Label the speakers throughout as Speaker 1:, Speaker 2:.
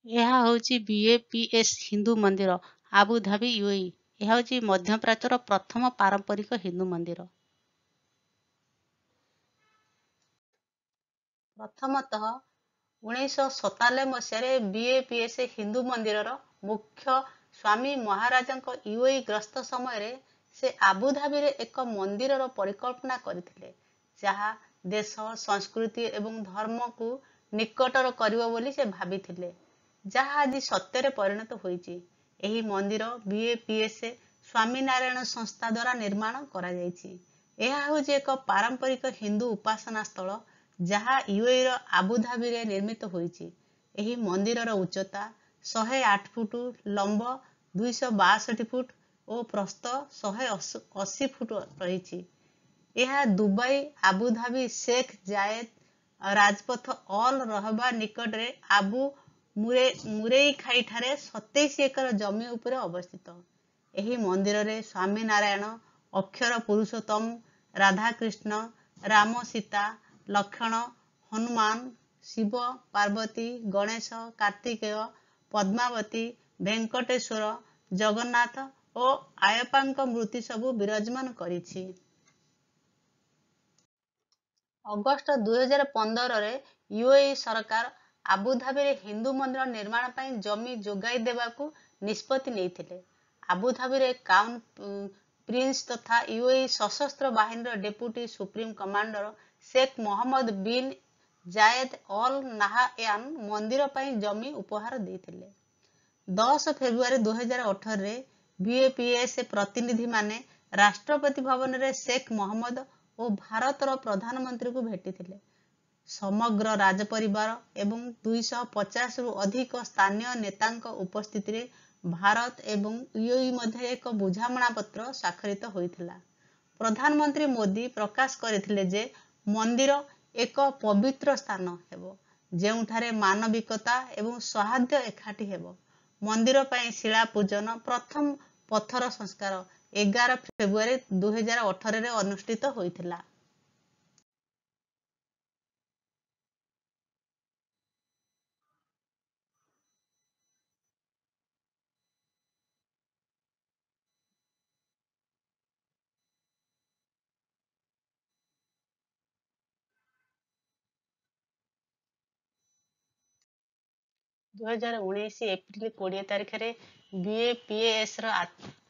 Speaker 1: ଏହା ହେଉଛି ବିଏପିଏସ୍ ହିନ୍ଦୁ ମନ୍ଦିର, ଆବୁଧାବି, ୟୁଏଇ। ଏହା ହେଉଛି ମଧ୍ୟପ୍ରାଚ୍ୟର ପ୍ରଥମ ପାରମ୍ପରିକ ହିନ୍ଦୁ ମନ୍ଦିର। ପ୍ରଥମତଃ 1997 ମସିହାରେ ବିଏପିଏସ୍ ହିନ୍ଦୁ ମନ୍ଦିରର ମୁଖ୍ୟ ସ୍ୱାମୀ ମହାରାଜଙ୍କ ୟୁଏଇ ଗସ୍ତ ସମୟରେ ସେ ଆବୁଧାବିରେ ଏକ ମନ୍ଦିରର ପରିକଳ୍ପନା କରିଥିଲେ, ଯାହା ଦେଶ, ସଂସ୍କୃତି ଏବଂ ଧର୍ମକୁ ନିକଟର କରିବ ବୋଲି ସେ ଭାବିଥିଲେ, ଯାହା ଆଜି ସତ୍ୟରେ ପରିଣତ ହୋଇଛି। ଏହି ମନ୍ଦିର ବିଏପିଏସ୍ ସ୍ୱାମୀନାରାୟଣ ସଂସ୍ଥା ଦ୍ୱାରା ନିର୍ମାଣ କରାଯାଇଛି। ଏହା ହେଉଛି ଏକ ପାରମ୍ପରିକ ହିନ୍ଦୁ ଉପାସନା ସ୍ଥଳ, ଯାହା ୟୁଏଇର ଆବୁଧାବିରେ ନିର୍ମିତ ହୋଇଛି। ଏହି ମନ୍ଦିରର ଉଚ୍ଚତା 108 ଫୁଟ, ଲମ୍ବ 262 ଫୁଟ ଓ ପ୍ରସ୍ଥ 180 ଫୁଟ ରହିଛି। ଏହା ଦୁବାଇ ଆବୁଧାବି ଶେଖ ଜାଏଦ ରାଜପଥ ଅଲ୍ ରହବା ନିକଟରେ ଆବୁ ମୁରେଇଖାଠାରେ 27 ଏକର ଜମି ଉପରେ ଅବସ୍ଥିତ। ଏହି ମନ୍ଦିରରେ ସ୍ୱାମୀନାରାୟଣ, ଅକ୍ଷର ପୁରୁଷୋତ୍ତମ, ରାଧାକୃଷ୍ଣ, ରାମ, ସୀତା, ଲକ୍ଷ୍ମଣ, ହନୁମାନ, ଶିବ, ପାର୍ବତୀ, ଗଣେଶ, କାର୍ତ୍ତିକେୟ, ପଦ୍ମାବତୀ, ଭେଙ୍କଟେଶ୍ୱର, ଜଗନ୍ନାଥ ଓ ଆୟପ୍ପାଙ୍କ ମୂର୍ତ୍ତି ସବୁ ବିରାଜମାନ କରିଛି। ଅଗଷ୍ଟ 2015ରେ ୟୁଏଇ ସରକାର ଆବୁଧାବିରେ ହିନ୍ଦୁ ମନ୍ଦିର ନିର୍ମାଣ ପାଇଁ ଜମି ଯୋଗାଇ ଦେବାକୁ ନିଷ୍ପତ୍ତି ନେଇଥିଲେ। ଆବୁଧାବିରେ କ୍ରାଉନ୍ ପ୍ରିନ୍ସ ତଥା ୟୁଏଇ ସଶସ୍ତ୍ର ବାହିନୀର deputy supreme commander Sheikh Mohammed bin Zayed Al Nahyan ମନ୍ଦିର ପାଇଁ ଜମି ଉପହାର ଦେଇଥିଲେ। 10 ଫେବୃଆରୀ 2018ରେ ବିଏପିଏସ୍ ପ୍ରତିନିଧିମାନେ ରାଷ୍ଟ୍ରପତି ଭବନରେ ଶେଖ ମହମ୍ମଦ ଓ ଭାରତର ପ୍ରଧାନମନ୍ତ୍ରୀଙ୍କୁ ଭେଟିଥିଲେ। ସମଗ୍ର ରାଜପରିବାର ଏବଂ 250ରୁ ଅଧିକ ସ୍ଥାନୀୟ ନେତାଙ୍କ ଉପସ୍ଥିତିରେ ଭାରତ ଏବଂ ୟୁଏଇ ମଧ୍ୟରେ ଏକ ବୁଝାମଣାପତ୍ର ସ୍ୱାକ୍ଷରିତ ହୋଇଥିଲା। ପ୍ରଧାନମନ୍ତ୍ରୀ ମୋଦି ପ୍ରକାଶ କରିଥିଲେ ଯେ ମନ୍ଦିର ଏକ ପବିତ୍ର ସ୍ଥାନ ହେବ, ଯେଉଁଠାରେ ମାନବିକତା ଏବଂ ସୌହାର୍ଦ୍ଦ୍ୟ ଏକାଠି ହେବ। ମନ୍ଦିର ପାଇଁ ଶିଳା ପୂଜନ, ପ୍ରଥମ ପଥର ସଂସ୍କାର 11 ଫେବୃଆରୀ 2018ରେ ଅନୁଷ୍ଠିତ ହୋଇଥିଲା। 2019 ଏପ୍ରିଲ 20 ତାରିଖରେ ବିଏପିଏସ୍ର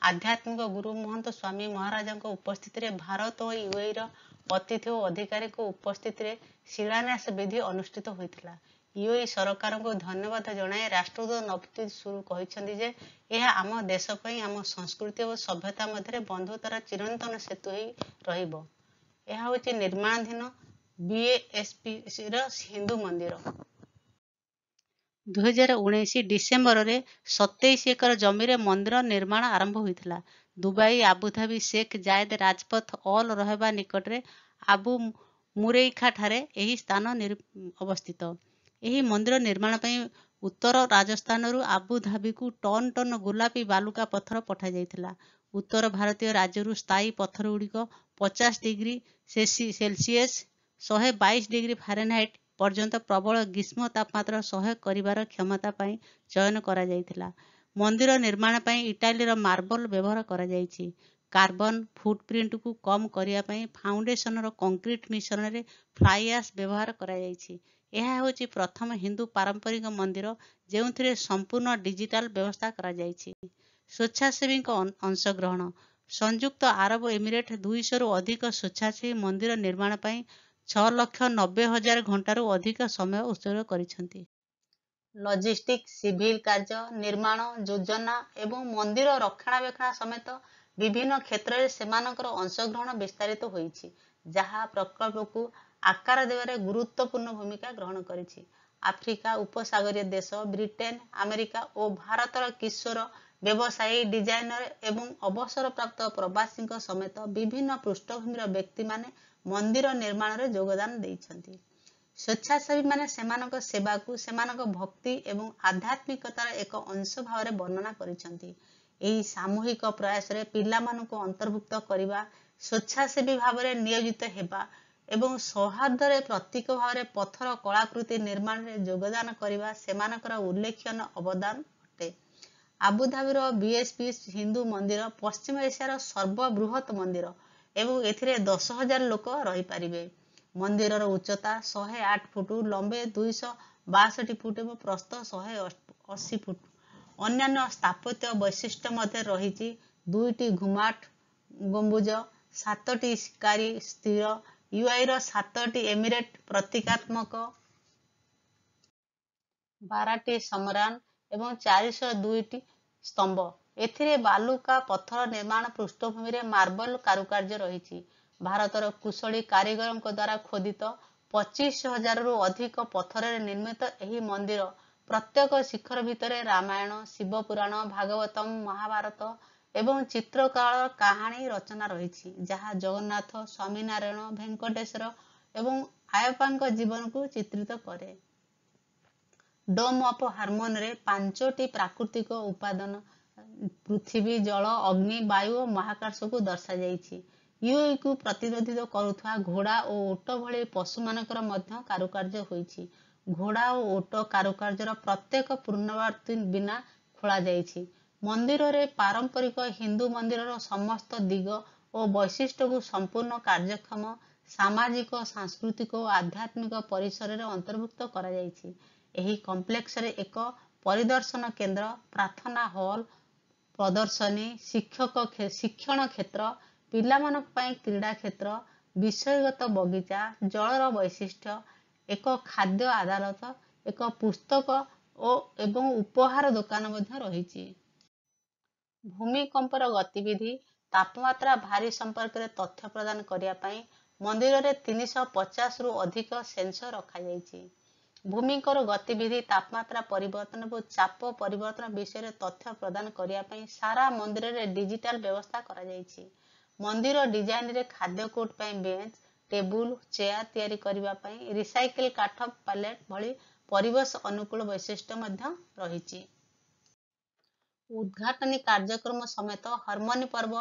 Speaker 1: ଆଧ୍ୟାତ୍ମିକ ଗୁରୁ ମହନ୍ତ ସ୍ୱାମୀ ମହାରାଜଙ୍କ ଉପସ୍ଥିତିରେ ଭାରତ ଓ ୟୁଏଇର ଅତିଥି ଓ ଅଧିକାରୀଙ୍କ ଉପସ୍ଥିତିରେ ଶିଳାନ୍ୟାସ ବିଧି ଅନୁଷ୍ଠିତ ହୋଇଥିଲା। ୟୁଏଇ ସରକାରଙ୍କୁ ଧନ୍ୟବାଦ ଜଣାଇ ରାଷ୍ଟ୍ରଦୂତ ନବଦୀପ ସୁରୀ କହିଛନ୍ତି ଯେ ଏହା ଆମ ଦେଶ ପାଇଁ ଆମ ସଂସ୍କୃତି ଓ ସଭ୍ୟତା ମଧ୍ୟରେ ବନ୍ଧୁତାର ଚିରନ୍ତନ ସେତୁ ହୋଇ ରହିବ। ଏହା ହେଉଛି ନିର୍ମାଣାଧୀନ ବିଏଏସପିର ହିନ୍ଦୁ ମନ୍ଦିର। 2019 ଡିସେମ୍ବରରେ 27 ଏକର ଜମିରେ ମନ୍ଦିର ନିର୍ମାଣ ଆରମ୍ଭ ହୋଇଥିଲା। ଦୁବାଇ ଆବୁଧାବି ଶେଖ ଜାଏଦ ରାଜପଥ ଅଲ୍ ରହବା ନିକଟରେ ଆବୁ ମୁରେଇଖାଠାରେ ଏହି ସ୍ଥାନ ଅବସ୍ଥିତ। ଏହି ମନ୍ଦିର ନିର୍ମାଣ ପାଇଁ ଉତ୍ତର ରାଜସ୍ଥାନରୁ ଆବୁଧାବିକୁ ଟନ୍ ଟନ୍ ଗୋଲାପୀ ବାଲୁକା ପଥର ପଠାଯାଇଥିଲା। ଉତ୍ତର ଭାରତୀୟ ରାଜ୍ୟରୁ ସ୍ଥାୟୀ ପଥରଗୁଡ଼ିକ 50 ଡିଗ୍ରୀ ସେଲସିୟସ୍, 122 ଡିଗ୍ରୀ ଫାରେନହାଇଟ୍ ପର୍ଯ୍ୟନ୍ତ ପ୍ରବଳ ଗ୍ରୀଷ୍ମ ତାପମାତ୍ରା ସହ୍ୟ କରିବାର କ୍ଷମତା ପାଇଁ ଚୟନ କରାଯାଇଥିଲା। ମନ୍ଦିର ନିର୍ମାଣ ପାଇଁ ଇଟାଲୀର ମାର୍ବଲ ବ୍ୟବହାର କରାଯାଇଛି। କାର୍ବନ ଫୁଟପ୍ରିଣ୍ଟକୁ କମ୍ କରିବା ପାଇଁ ଫାଉଣ୍ଡେସନର କଂକ୍ରିଟ ମିଶ୍ରଣରେ ଫ୍ଲାଇ ଆଶ୍ ବ୍ୟବହାର କରାଯାଇଛି। ଏହା ହେଉଛି ପ୍ରଥମ ହିନ୍ଦୁ ପାରମ୍ପରିକ ମନ୍ଦିର, ଯେଉଁଥିରେ ସମ୍ପୂର୍ଣ୍ଣ ଡିଜିଟାଲ ବ୍ୟବସ୍ଥା କରାଯାଇଛି। ସ୍ୱେଚ୍ଛାସେବୀଙ୍କ ଅଂଶଗ୍ରହଣ: ସଂଯୁକ୍ତ ଆରବ ଏମିରେଟ 200ରୁ ଅଧିକ ସ୍ୱେଚ୍ଛାସେବୀ ମନ୍ଦିର ନିର୍ମାଣ ପାଇଁ 6,90,000 ଘଣ୍ଟାରୁ ଅଧିକ ସମୟ ଉତ୍ସର୍ଗ କରିଛନ୍ତି। ଲଜିଷ୍ଟିକ୍, ସିଭିଲ କାର୍ଯ୍ୟ, ନିର୍ମାଣ ଯୋଜନା ଏବଂ ମନ୍ଦିର ରକ୍ଷଣାବେକ୍ଷଣ ସମେତ ବିଭିନ୍ନ କ୍ଷେତ୍ରରେ ସେମାନଙ୍କର ଅଂଶଗ୍ରହଣ ବିସ୍ତାରିତ ହୋଇଛି, ଯାହା ପ୍ରକଳ୍ପକୁ ଆକାର ଦେବାରେ ଗୁରୁତ୍ୱପୂର୍ଣ୍ଣ ଭୂମିକା ଗ୍ରହଣ କରିଛି। ଆଫ୍ରିକା ଉପସାଗରୀୟ ଦେଶ, ବ୍ରିଟେନ, ଆମେରିକା ଓ ଭାରତର କିଶୋର ବ୍ୟବସାୟୀ, ଡିଜାଇନର ଏବଂ ଅବସରପ୍ରାପ୍ତ ପ୍ରବାସୀଙ୍କ ସମେତ ବିଭିନ୍ନ ପୃଷ୍ଠଭୂମିର ବ୍ୟକ୍ତିମାନେ ମନ୍ଦିର ନିର୍ମାଣରେ ଯୋଗଦାନ ଦେଇଛନ୍ତି। ସ୍ୱେଚ୍ଛାସେବୀମାନେ ସେମାନଙ୍କ ସେବାକୁ ସେମାନଙ୍କ ଭକ୍ତି ଏବଂ ଆଧ୍ୟାତ୍ମିକତାର ଏକ ଅଂଶ ଭାବରେ ବର୍ଣ୍ଣନା କରିଛନ୍ତି। ଏହି ସାମୂହିକ ପ୍ରୟାସରେ ପିଲାମାନଙ୍କୁ ଅନ୍ତର୍ଭୁକ୍ତ କରିବା, ସ୍ୱେଚ୍ଛାସେବୀ ଭାବରେ ନିୟୋଜିତ ହେବା ଏବଂ ସୌହାର୍ଦ୍ଦ୍ୟର ପ୍ରତୀକ ଭାବରେ ପଥର କଳାକୃତି ନିର୍ମାଣରେ ଯୋଗଦାନ କରିବା ସେମାନଙ୍କର ଉଲ୍ଲେଖନୀୟ ଅବଦାନ ଅଟେ। ଆବୁଧାବିର ବିଏସ୍ପି ହିନ୍ଦୁ ମନ୍ଦିର ପଶ୍ଚିମ ଏସିଆର ସର୍ବବୃହତ ମନ୍ଦିର ଏବଂ ଏଥିରେ 10,000 ଲୋକ ରହିପାରିବେ। ମନ୍ଦିରର ଉଚ୍ଚତା 108 ଫୁଟ, ଲମ୍ବ 262 ଫୁଟ ଏବଂ ପ୍ରସ୍ଥ 180 ଫୁଟ। ଅନ୍ୟାନ୍ୟ ସ୍ଥାପତ୍ୟ ବୈଶିଷ୍ଟ୍ୟ ମଧ୍ୟରେ ରହିଛି ଦୁଇଟି ଘୁମାଟ ଗମ୍ବୁଜ, ସାତଟି ଶିକାରୀ ସ୍ଥିର, ୟୁଏଇର ସାତଟି ଏମିରେଟ୍ ପ୍ରତୀକାତ୍ମକ 12ଟି ସମରାନ ଏବଂ 402ଟି ସ୍ତମ୍ଭ। ଏଥିରେ ବାଲୁକା ପଥର ନିର୍ମାଣ ପୃଷ୍ଠଭୂମିରେ ମାର୍ବଲ କାରୁକାର୍ଯ୍ୟ ରହିଛି। ଭାରତର କୁଶଳୀ କାରିଗରଙ୍କ ଦ୍ୱାରା ଖୋଦିତ 25,000ରୁ ଅଧିକ ପଥରରେ ନିର୍ମିତ ଏହି ମନ୍ଦିର ପ୍ରତ୍ୟେକ ଶିଖର ଭିତରେ ରାମାୟଣ, ଶିବ ପୁରାଣ, ଭାଗବତମ, ମହାଭାରତ ଏବଂ ଚିତ୍ରକଳାର କାହାଣୀ ରଚନା ରହିଛି, ଯାହା ଜଗନ୍ନାଥ, ସ୍ୱାମୀନାରାୟଣ, ଭେଙ୍କଟେଶ୍ୱର ଏବଂ ଆୟପ୍ପାଙ୍କ ଜୀବନକୁ ଚିତ୍ରିତ କରେ। ଡୋମ୍ ଅଫ୍ ହାରମୋନିରେ ପାଞ୍ଚଟି ପ୍ରାକୃତିକ ଉପାଦାନ ପୃଥିବୀ, ଜଳ, ଅଗ୍ନି, ବାୟୁ ଓ ମହାକାଶକୁ ଦର୍ଶାଯାଇଛି। ୟୁଏଇକୁ ପ୍ରତିନିଧିତ୍ୱ କରୁଥିବା ଘୋଡ଼ା ଓ ଓଟ ଭଳି ପଶୁମାନଙ୍କର ମଧ୍ୟ କାରୁକାର୍ଯ୍ୟ ହୋଇଛି। ଘୋଡ଼ା ଓ ଓଟ କାରୁକାର୍ଯ୍ୟର ପ୍ରତ୍ୟେକ ପୁନରାବୃତ୍ତି ବିନା ଖୋଳାଯାଇଛି। ମନ୍ଦିରରେ ପାରମ୍ପରିକ ହିନ୍ଦୁ ମନ୍ଦିରର ସମସ୍ତ ଦିଗ ଓ ବୈଶିଷ୍ଟ୍ୟକୁ ସମ୍ପୂର୍ଣ୍ଣ କାର୍ଯ୍ୟକ୍ଷମ ସାମାଜିକ, ସାଂସ୍କୃତିକ ଓ ଆଧ୍ୟାତ୍ମିକ ପରିସରରେ ଅନ୍ତର୍ଭୁକ୍ତ କରାଯାଇଛି। ଏହି କମ୍ପ୍ଲେକ୍ସରେ ଏକ ପରିଦର୍ଶନ କେନ୍ଦ୍ର, ପ୍ରାର୍ଥନା ହଲ୍, ପ୍ରଦର୍ଶନୀ, ଶିକ୍ଷଣ କ୍ଷେତ୍ର, ପିଲାମାନଙ୍କ ପାଇଁ କ୍ରୀଡ଼ା କ୍ଷେତ୍ର, ବିଷୟଗତ ବଗିଚା, ଜଳର ବୈଶିଷ୍ଟ୍ୟ, ଏକ ଖାଦ୍ୟ ଅଦାଲତ, ଏକ ପୁସ୍ତକ ଓ ଏବଂ ଉପହାର ଦୋକାନ ମଧ୍ୟ ରହିଛି। ଭୂମିକମ୍ପର ଗତିବିଧି, ତାପମାତ୍ରା ଭାରି ସମ୍ପର୍କରେ ତଥ୍ୟ ପ୍ରଦାନ କରିବା ପାଇଁ ମନ୍ଦିରରେ 350ରୁ ଅଧିକ ସେନ୍ସର ରଖାଯାଇଛି। ଭୂମିକମ୍ପର ଗତିବିଧି, ତାପମାତ୍ରା ପରିବର୍ତ୍ତନ ଏବଂ ଚାପ ପରିବର୍ତ୍ତନ ବିଷୟରେ ତଥ୍ୟ ପ୍ରଦାନ କରିବା ପାଇଁ ସାରା ମନ୍ଦିରରେ ଡିଜିଟାଲ ବ୍ୟବସ୍ଥା କରାଯାଇଛି। ମନ୍ଦିର ଡିଜାଇନରେ ଖାଦ୍ୟ କୋର୍ଟ ପାଇଁ ବେଞ୍ଚ, ଟେବୁଲ, ଚେୟାର ତିଆରି କରିବା ପାଇଁ ରିସାଇକେଲ କାଠ ପାଲେଟ ଭଳି ପରିବେଶ ଅନୁକୂଳ ବୈଶିଷ୍ଟ୍ୟ ମଧ୍ୟ ରହିଛି। ଉଦ୍ଘାଟନୀ କାର୍ଯ୍ୟକ୍ରମ ସମେତ ହରମୋନି ପର୍ବ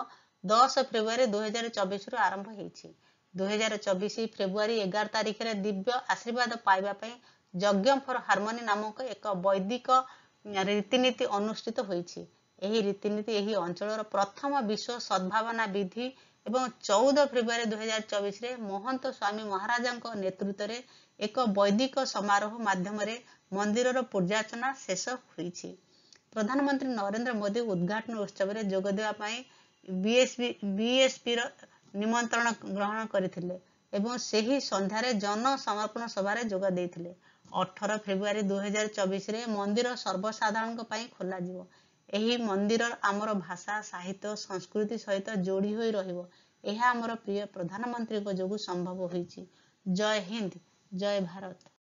Speaker 1: 10 ଫେବୃଆରୀ 2024ରୁ ଆରମ୍ଭ ହେଇଛି। 2024 ଫେବୃଆରୀ 11 ତାରିଖରେ ଦିବ୍ୟ ଆଶୀର୍ବାଦ ପାଇବା ପାଇଁ ଯଜ୍ଞ ଫର ହାରମୋନି ନାମକ ଏକ ବୈଦିକ ରୀତିନୀତି ଅନୁଷ୍ଠିତ ହୋଇଛି। ଏହି ରୀତିନୀତି ଏହି ଅଞ୍ଚଳର ପ୍ରଥମ ବିଶ୍ୱ ସଦ୍ଭାବନା ବିଧି ଏବଂ 14 ଫେବୃଆରୀ 2024ରେ ମହନ୍ତ ସ୍ୱାମୀ ମହାରାଜଙ୍କ ନେତୃତ୍ୱରେ ଏକ ବୈଦିକ ସମାରୋହ ମାଧ୍ୟମରେ ମନ୍ଦିରର ପୂଜାର୍ଚ୍ଚନା ଶେଷ ହୋଇଛି। ପ୍ରଧାନମନ୍ତ୍ରୀ ନରେନ୍ଦ୍ର ମୋଦି ଉଦ୍ଘାଟନ ଉତ୍ସବରେ ଯୋଗ ଦେବା ପାଇଁ ବିଏସ୍ପିର ନିମନ୍ତ୍ରଣ ଗ୍ରହଣ କରିଥିଲେ ଏବଂ ସେହି ସନ୍ଧ୍ୟାରେ ଜନ ସମର୍ପଣ ସଭାରେ ଯୋଗ ଦେଇଥିଲେ। 18 ଫେବୃଆରୀ 2024ରେ ମନ୍ଦିର ସର୍ବସାଧାରଣଙ୍କ ପାଇଁ ଖୋଲାଯିବ। ଏହି ମନ୍ଦିର ଆମର ଭାଷା, ସାହିତ୍ୟ, ସଂସ୍କୃତି ସହିତ ଯୋଡ଼ି ହୋଇ ରହିବ। ଏହା ଆମର ପ୍ରିୟ ପ୍ରଧାନମନ୍ତ୍ରୀଙ୍କ ଯୋଗୁଁ ସମ୍ଭବ ହୋଇଛି। ଜୟ ହିନ୍ଦ, ଜୟ ଭାରତ।